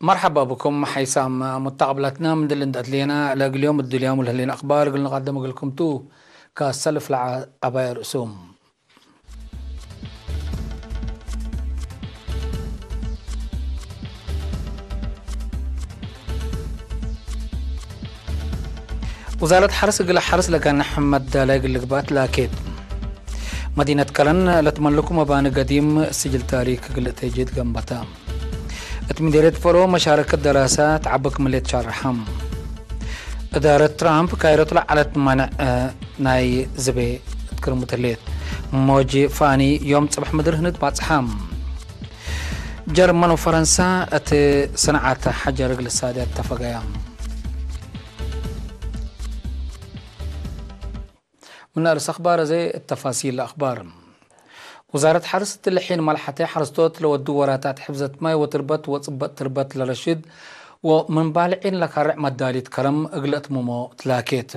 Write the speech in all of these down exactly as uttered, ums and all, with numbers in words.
መርሐባ ብኩም ሐይሳም ሙተቀብላትና፣ ምን ድል እንዴ አትሌና ለእግል ዮም እድልያሙ ለህሌን አክባር እግል ንቀድም እግልኩም ቱ። ከሰልፍ ለዐባይ ርእሱም። ውዛረት ሐርስ እግል ሐርስ ለጋንሕ መዳላይ እግል ልግባእ ትላኬት። መዲነት ከረን ለትመልኩ መባኒ ገዲም ስጅል ታሪክ እግል እቴጅት ገንበታ። እት ምዴርየት ፈሮ መሻረከት ደራሰ ተዓበ ክምሌት ሻርሐ። እዳረት ትራምፕ ካይሮት ለዐለት ማንዕ ናይ ዝቤ እት ክርሙት ህሌት። ሞጅ ፋኒ ዮም ጽብሕ ምድር ህንድ ባጽሐ። ጀርመን ወፈረንሳ እት ሰንዓት ሐጀር እግል ሳድያት ተፈገያ። ምን አርስ አክባር አዜ እት ተፋሲል አክባር። ውዛረት ሐርስ እትለ ሒን መልሐተ ሐርስቶት ለወዱ ወራታት ሕፍዘት ማይ ወትርበት ወጽበጥ ትርበት ለረሽድ ወምን ባልዒን ለካርዕ መዳሊት ከረም እግል አትምሞ ትላኬት።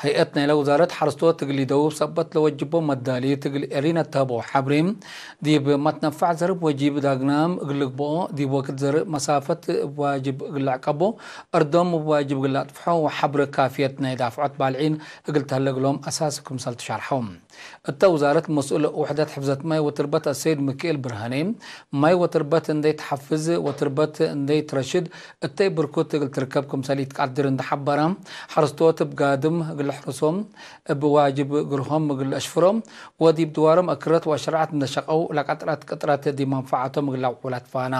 ሀይአት ናይለ ውዛረት ሐርስቶት እግል ኢደውብ ሰበት ለወጅቦ መዳሊት እግል ኤሪነ ተህቦ ሐብሬ ዲብ መትነፋዕ ዘርእ እብ ወጂብ ዳግናም እግል ልግብኦ፣ ዲብ ወክድ ዘርእ መሳፈት እብ ዋጅብ እግል ለዕቀቦ፣ እርዶም እብ ዋጅብ እግል ለአጥፍሖ ወሐብር ካፍየት ናይ ዳፍዖት ባልዒን እግል ተህለ እግሎም አሳስ ክምሰል ትሻርሐው። እተ ውዛረት መስኡል ውሕደት ሕፍዘት ማይ ወትርበት አሰይድ ሚካኤል ብርሃኔ፣ ማይ ወትርበት እንዴ ተሐፍዝ ወትርበት እንዴ ትረሽድ እተይ ብርኩት እግል ትርከብ ክምሰል ኢትቀድር እንዴ ሐበረ፣ ሐርስቶት እብ ጋድም እግል ለሕርሶም፣ እብ ዋጅብ ግርሆም እግል ለአሽፍሮም ወዲብ ድዋሮም አክረት ወአሽረዐት እንዴ ሸቀው ለቀጥረት ቅጥረት ዲብ መንፈዓቶም እግል ለአውዑ ለትፋና።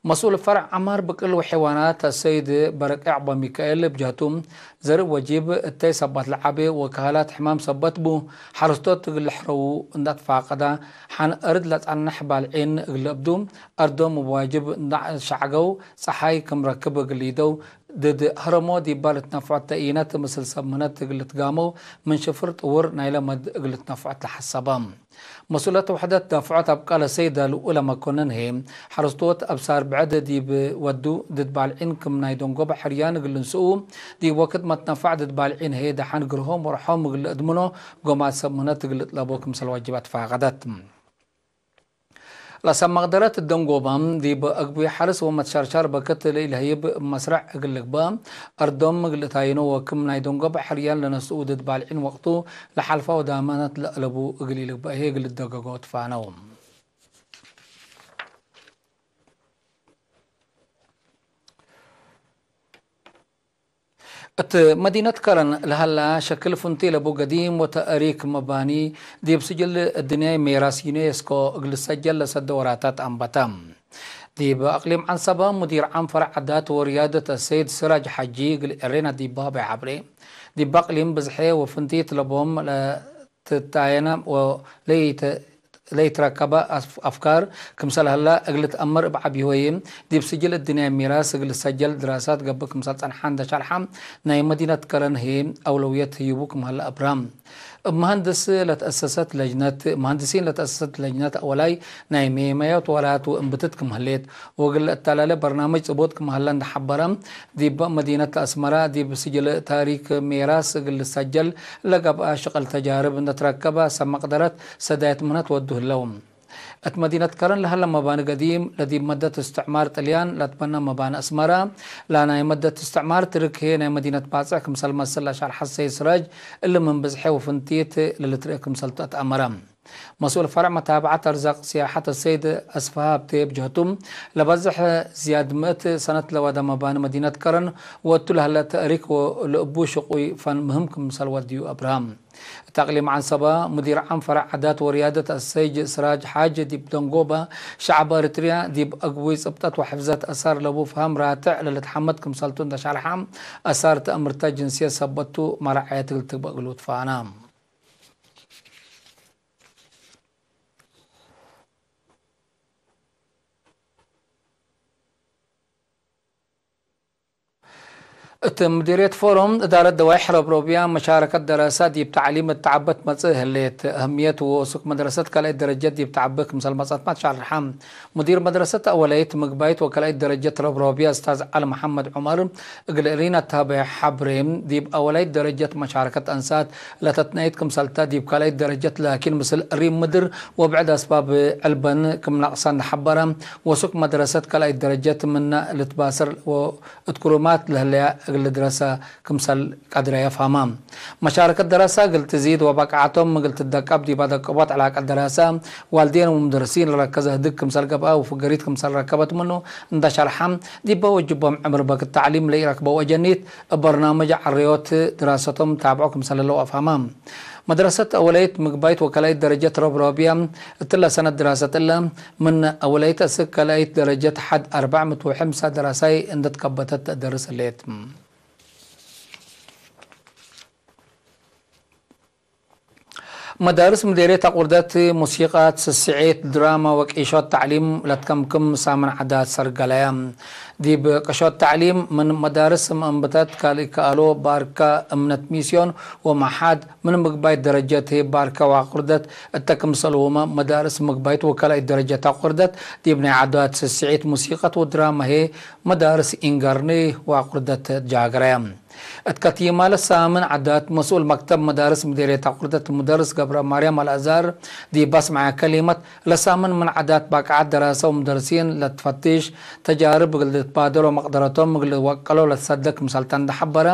መስኡል ፈርዕ ዐማር ብቅል ወሐይዋናት አሰይድ በረቅ ያዕቆብ ሚካኤል እብ ጀህቱ፣ ዘርእ ወጂብ እተይ ሰበት ለዐቤ ወካህላት ሕማም ሰበት ቡ፣ ሐርስቶት እግል ልሕረዉ እንዴ አትፋቀዳ፣ ሐን እርድ ለጸንሕ ባልዒን እግል ልእብዱ፣ አርዶም እብ ዋጅብ እንዴ ሸዕገው፣ ጸሓይ ክም ረክብ እግል ሊደው፣ ድድ ህረሞ ዲባ ልትነፍዖት ተኢነት ምስል ሰምነት እግል ልትጋመው፣ ምን ሽፍር ጥውር ናይለ መድ እግል ልትነፍዖት ለሐሰበ። መስኡለት ውሕደት ዳፍዖት አብቃለ ሰይድ ልኡለ መኮንን ህዬ፣ ሐርስቶት አብሳር ብዕድ ዲብ ወዱ ድድ ባልዒን ክም ናይ ደንጎበ ሕርያን እግል ልንስኡ፣ ዲብ ወክድ መትነፋዕ ድድ ባልዒን ህዬ ደሐን ግርሆም ወርሖም እግል ልእድምኖ፣ ጎማት ሰምነት እግል ልጥለቦ ክምሰል ዋጅብ አትፋቀደት። ለሰብ መቅደረት ደንጎበ፣ ዲብ አግቡይ ሐርስ ወመትሸርሸር በክት ለኢለህይብ መስረዕ እግል ልግበእ፣ አርዶም እግል ልታይኖ ወክም ናይ ደንጎበ ሕርያን ለነስኡ ድድ ባልዒን ወቅቱ ለሐልፋ ወዳመነት ለአለቡ እግል ኢልግበእ ህዬ እግል ልደገጎ ትፋነው። እት መዲነት ከረን ለሀላ ሸክል ፍንቴ ለቡ ገዲም ወተእሪክ መባኒ ዲብ ስጅል እድንያይ ሜራስ ዩኔስኮ እግል ልሰጀል ለሰደ ወራታት አንበተ። ዲብ አቅሊም ዐንሰበ ሙዲር ዓም ፈረዕ ዓዳት ወርያደት አሰይድ ስራጅ ሐጂ እግል ኤሬና ዲብ ሀበ ዐብሬ፣ ዲብ አቅሊም ብዝሐ ወፍንቲት ለቦም ለትታየነ ወለይተ-፣ ለይትረከበ አፍ-፣ አፍካር ክምሰል ሀላ እግል ልትአመር እብ ዐቢ ሆዬ፣ ዲብ ስጅል እድንያይ ሚራስ እግል ልሰጀል ድራሳት ገብእ ክምሰል ጸንሐ እንደ ሸርሐ፣ ናይ መዲነት ከረን ህዬ አውለውየት ህዩቡ ክም ሀለ አብራም። እብ መሀንድስ ለተአሰሰት ለጅነት፣ መሀንድሲን ለተአሰሰት ለጅነት አወላይ ናይ ሜመያት ወላት ወእንብትት ክም ህሌት፣ ወእግል ለአተላሌ በርናምጅ ጽቡጥ ክም ሀለ እንደ ሐበረ፣ ዲብ መዲነት አስመረ ዲብ ስጅል ታሪክ ሜራስ እግል ልሰጀል ለገብአ ሽቅል ተጃርብ እንደ ትረከበ ሰብ መቅደረት ሰዳየት ምህነት ወዱ ህለው። እት መዲነት ከረን ለሀለ መባኒ ገዲም፣ ለዲብ መደት እስትዕማር ጥልያን ለትበነ መባኒ አስመረ፣ ለናይ መደት እስትዕማር ትርክ ህዬ ናይ መዲነት ባጽዕ ክምሰል መስል ለሸርሐ ሰይድ ስራጅ፣ እሊ ምን ብዝሐ ወፍንቲት ለልትርኤ ክምሰልቱ አትአመረ። መስኡል ፈርዕ መታብዐት አርዛቅ ሲያሐት አሰይድ አስፍሃ ሀብቴ እብ ጀህቱ፣ ለበዝሕ ዝያድ ምእት ሰነት ለወደ መባኒ መዲነት ከረን ወእቱ ለሀለ ተእሪክ ወለእቡ ሽቁይ ፈን ምህም ክምሰል ወድዩ አብርሃም። እት አቅሊም ዐንሰበ፣ ሙዲር ዓም ፈረዕ ዓዳት ወርያደት አሰይድ ስራጅ ሓጅ፣ ዲብ ደንጎበ ሸዐብ ኤሪትርያ ዲብ አግቡይ ጽብጠት ወሕፍዘት አሳር ለቡ ፈሀም ራትዕ ለልትሐመድ ክምሰልቱ እንደ ሸርሐ፣ አሳር ተአምርተ ጅንስየት ሰበቱ መራዐየት እግል ትግበእ እግሉ ትፋና። እት ምዲርየት ፎሮም እዳረት ደዋይሕ ረብሮብያ መሻረከት ደረሰ ዲብ ተዕሊም እት ተዐበ ትመጽእ ህሌት። እህምየት ወሱክ መድረሰት ካልኣይት ደረጀት ዲብ ተዐበ ክምሰል መጽአትማ ተሻርሐ። ሙዲር መድረሰት አወላይት ምግባይት ወካልኣይት ደረጀት ረብሮብያ እስታዝ ዐሊ መሐመድ ዑመር እግል እሪን አታበ ሐብሬ፣ ዲብ አወላይት ደረጀት መሻረከት አንሳት ለተትናይት ክምሰልተ፣ ዲብ ካልኣይት ደረጀት ላኪን ምስል እሪን ምድር ወብዕድ አስባብ ዕልበን ክም ነቅሰን ሐበረ። ወሱክ መድረሰት ካልኣይት ደረጀት ምነ ልትባሰር እት ክሩማት ለህለያ እግል ልድረሰ ክምሰል ቀድረየ ፈሀመ። መሻረከት ደረሰ እግል ትዚድ ወበቃዐቶም እግል ትደቀብ ዲብ አደቀቦት ዕላቀት ደረሰ፣ ዋልዴን ወሙደርሲን ለረከዘ ህድግ ክምሰል ገብአ ወፍገሪት ክምሰል ረከበት ምኑ እንደ ሸርሐ፣ ዲበ ወጅቦም ዕምር በክት ተዕሊም ለኢረክበው አጀኒት እብ በርናምጅ ዐረዮት ድራሰቶም ታብዖ ክምሰል ህለው አፍሀመ። መድረሰት አወለይት ምግባይት ወከላይት ደረጀት ረብሮብያ እትለ ሰነት ድራሰት እለ፣ ምን አወለይት እስክ ከላይት ደረጀት ሐድ አርበዕ ምእት ወሐምሳ ደራሳይ እንደ ትከበተት ተደርስ ህሌት። መዳርስ ምዴርየት አቁርደት ሙሲቀት፣ ስስዔት፣ ድራማ ወቂሾት ተዕሊም ለትከምክም ሳምን ዐዳት ሰርገለየ። ዲብ ቅሾት ተዕሊም ምን መዳርስ እምብተት ካልእ ከአሎ ባርከ እምነት ሚስዮን ወመሓድ ምን ምግባይት ደረጀት ህይ ባርከ ወአቁርደት እተ ክምሰልሁመ መዳርስ ምግባይት ወካልኣይት ደረጀት አቁርደት ዲብ ናይ ዐዳት ስስዒት ሙሲቀት ወድራማ ህይ መዳርስ ኢንገርኒ ወአቁርደት ጃግረ። እት ከቲማ ለሳምን ዐዳት መስኡል መክተብ መዳርስ ምዴርየት አቁርደት ሙደርስ ገብረማርያም አልአዛር ዲብ አስመዐ ከሊመት፣ ለሳምን ምን ዐዳት ባቅዓት ደራሰ ወሙደርሲን ለትፈትሽ፣ ተጃርብ እግል ልትባደል ወመቅደረቶም እግል ልወቀሎ ለትሰደግ ክምሰልተ እንደ ሐበረ፣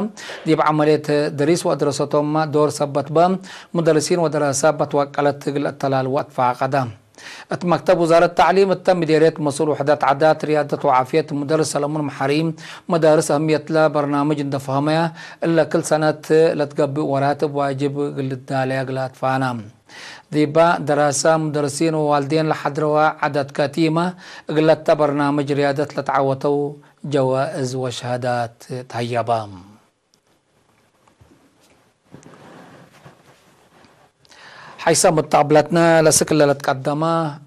ዲብ ዐመልየት ድሪስ ወአድረሰቶምመ ዶር ሰበት በ፣ ሙደርሲን ወደራሰ በትወቀለት እግል አተላልወ አትፋቀደ። እት መክተብ ውዛረት ተዕሊም እተ ምዴርየት መስኡል ውሕደት ዐዳት፣ ርያደት ወዓፍየት ሙደርስ ሰለሙን መሐሪ፣ መዳርስ አህምየትለ በርናምጅ እንደ ፈሀመ፣ እለ ክል ሰነት ለትገብእ ወራት እብ ዋጅብ እግል ልዳለየ እግል አትፋነ። ዲባ ደራሰ፣ ሙደርሲን ወዋልዴን ለሐድረወ ዐዳት ከቲመ እግለተ በርናምጅ ርያደት ለተዐወተው ጀዋእዝ ወሸሃዳት ተሀየበ። ሐይሰ ሙተቅብለትነ ለስክለ ለትቀደመ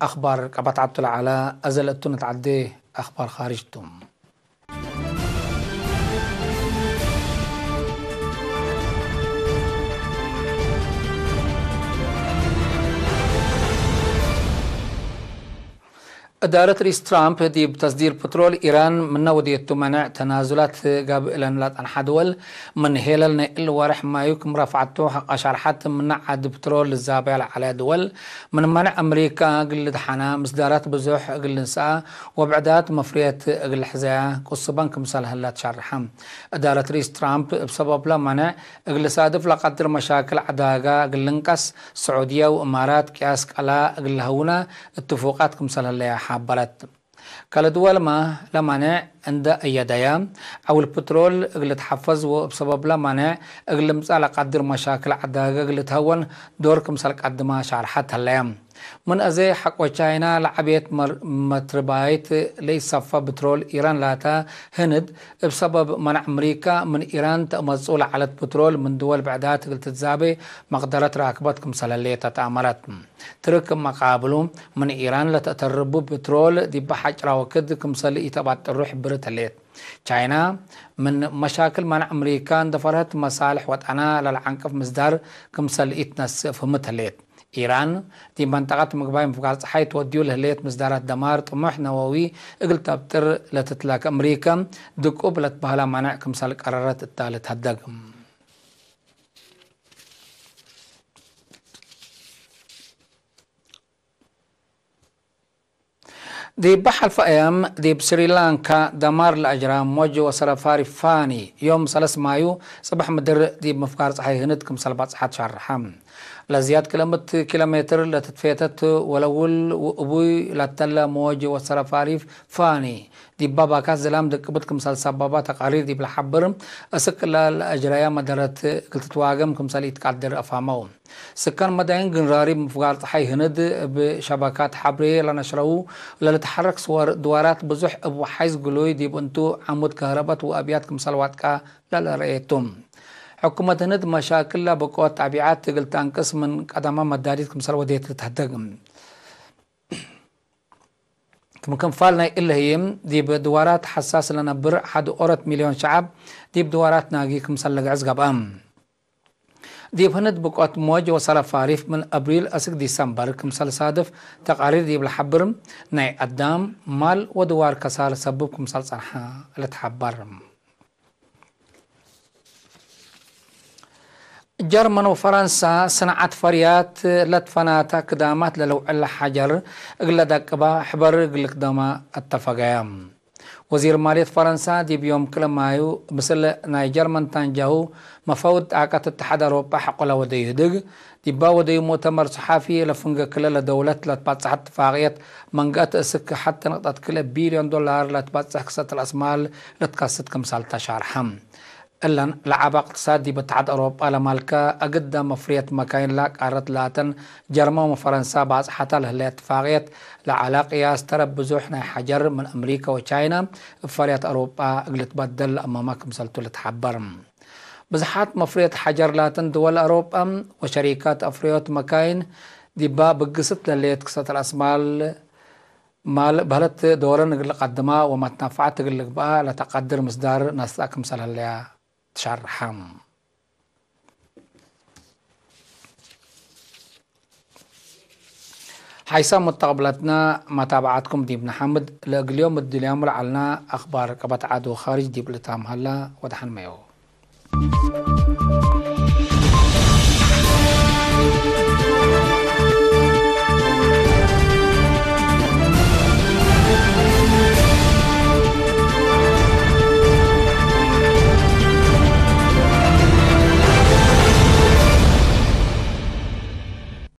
አክባር ቀበት ዐብቱ ለዐለ፣ አዘ ለእቱ ንትዐዴ አክባር ካርጅ ቱ። እዳረት ርኢስ ትራምፕ ዲብ ተስዲር ፕትሮል ኢራን ምነ ወዴቱ መነዕ ተናዙላት ጋብእ እለን ለጸንሐ ድወል፣ ምን ሄለል ናይ እል ወርሕ ማዩ ክም ረፍዐቱ ሐቅ አሻርሐት ምነ ዐድ ፕትሮል ልዛበያ ለዐለ ድወል፣ ምን መነዕ አምሪካ እግል ልድሐና፣ ምስዳራት ብዙሕ እግል ልንስአ ወብዕዳት መፍርየት እግል ልሕዘያ ቅሱበን ክምሰል ህለ ትሸርሐ። እዳረት ርኢስ ትራምፕ እብ ሰበብለ መነዕ እግል ልሳድፍ ለቀድር መሻክል ዐዳጋ እግል ልንቀስ፣ ስዑድየ ወእማራት ቅያስ ቀላ እግል ለሀውነ እትፉቃት ክምሰል ህለየ ሐበረት። ከለ ድወልመ ለማኔዕ እንደ አየደየ፣ ዐውል ፕትሮል እግል ልትሐፈዝ ወእብ ሰበብለ ማኔዕ እግል ልምጸእ ለቀድር መሻክል ዐዳገ እግል ልትሀወን ዶር ክምሰል ቀድመ ሻርሐት ህለየ። ምን አዜ ሐቆ ቻይና ለዐቤት መር-፣ መትርባይት ለኢሰፈ ብትሮል ኢራን ላተ ህንድ፣ እብ ሰበብ መነዕ አምሪካ ምን ኢራን ተአመጽኡ ለዐለት ብትሮል ምን ድወል ብዕዳት እግል ትትዛቤ መቅደረት ራክበት ክምሰል ህሌት ተአመረት። ትርክ መቃብሉ፣ ምን ኢራን ለተአተርቡ ብትሮል ዲበ ሐጭራ ወክድ ክምሰል ኢተባጥሩ ሕብርት ህሌት። ቻይና፣ ምን መሻክል መነዕ አምሪካ እንደ ፈርሀት መሳልሕ ወጠና ለለዐንቅፍ ምስዳር ክምሰል ኢትነስእ ፍህምት ህሌት። ኢራን፣ ዲብ መንጠቀት ምግባይ ምፍጋር ጸሓይ ትወድዩ ለህሌት ምስዳራት ደማር ጥሙሕ ነወዊ እግል ተብጥር ለትትላከ አምሪካ፣ ድቁብ ለትበህላ መነዕ ክምሰል ቀረረት እታ ልትሀደግ። ዲብ ሐልፈ አያም፣ ዲብ ስሪላንካ ደማር ለአጅራ ሞጅ ወሰረፋሪ ፋኒ፣ ዮም ሰለስ ማዩ ጽብሕ ምድር ዲብ ምፍጋር ጸሓይ ህንድ ክምሰል በጽሐት ሸርሐ። ለዝያድ ክልምት ኪሎ ሜትር ለትትፌተት ወለውል ወእቡይ ለተለ ሞጅ ወሰረፋሪ ፋኒ፣ ዲባ ባካት ዝላም ድቅብት ክምሰል ሰባባ ተቃሪር ዲብ ለሐብር፣ እስክ እለ ለአጅረያ መደረት እግል ትትዋገም ክምሰል ኢትቀድር አፋመው። ስካን መዳይን ግንራሪብ ምፍጋር ጸሓይ ህንድ እብ ሸበካት ሐብሬ ለነሽረው ለልትሐረክ ስወር ድዋራት ብዙሕ እብ ወሓይዝ ግሉይ ዲብ እንቱ ዓሙድ ከህረበት ወአብያት ክምሰል ዋጥቀ ለለረኤቱ። ሕኩመት ህንድ መሻክል ለብቆት ጠቢዐት እግል ተአንቅስ ምን ቀደመ መዳሊት ክምሰል ወዴት ልትሀደግ። ክም ክንፋል ናይ እለ ህዬ፣ ዲብ ድዋራት ሐሳስ ለነብር ሐድ ኦረት ሚልዮን ሸዐብ ዲብ ድዋራት ናጊ ክምሰል ልግዕዝ ገብአ። ዲብ ህንድ ብቆት ሞጅ ወሰለፋሪፍ ምን አብሪል አስክ ዲሰምበር ክምሰል ሳድፍ ተቃሪር ዲብ ለሐብር፣ ናይ አዳም፣ ማል ወድዋር ከሳር ሰብብ ክምሰል ጸንሐ ልትሐበር። ጀርመን ወፈረንሳ ሰንዓት ፈርያት ለትፈናተ ክዳማት ለልውዕል ሐጀር እግለ ደቅባ ሕበር እግል ክደማ አተፈገያ። ወዚር ማልየት ፈረንሳ ዲብ ዮም ክለ ማዩ፣ ምስል ናይ ጀርመን ታንጃሁ መፈውድ ጣቀት እትሓድ አውሮጳ ሐቆለ ወደዩ ህድግ፣ ዲባ ወደዩ ሙእተመር ሰሓፊ ለፍንገ ክለ ለደውለት ለትባጽሐ እትፋቅየት መንገአት እስክ ሐተ ንቅጠት ክለ ቢልዮን ዶላር ለትባጽሕ ክሰት ረአስማል ልትከስት ክምሰል ተሻርሐ። እለን ለዐበ እቅትሳድ ዲብ እትሓድ አውሮጳ ለማልከ አግደ መፍርየት መካይን ለቃረት ላተን ጀርመን ወፈረንሳ ባጽሐተ ለህለ እትፋቅየት ለዐለ ቅያስ ተረብ ብዙሕ ናይ ሐጀር ምን አምሪከ ወቻይና እብ ፈርየት አውሮጳ እግል ልትበደል ለአመመ ክምሰልቱ ልትሐበር። ብዝሓት መፍርየት ሐጀር ላተን ድወል አውሮጳ ወሸሪካት አፍርዮት መካይን ዲባ ብግስት ለህሌት ክሰት ረአስማል ማል በህለት ዶረን እግል ልቀድማ ወመትነፈዐት እግል ልግበአ ለተቀድር ምስዳር ነስአ ክምሰል ህለያ ትሸርሐ። ሓይሳም ሙተቅብለትና መታብዓትኩም ዲብ ነሐምድ። ለእግል ዮም እድልያሙ ለዐልና አክባር ቀበት ዐድ ወካርጅ ዲብ ልታም ሀላ። ወደሐን መየው።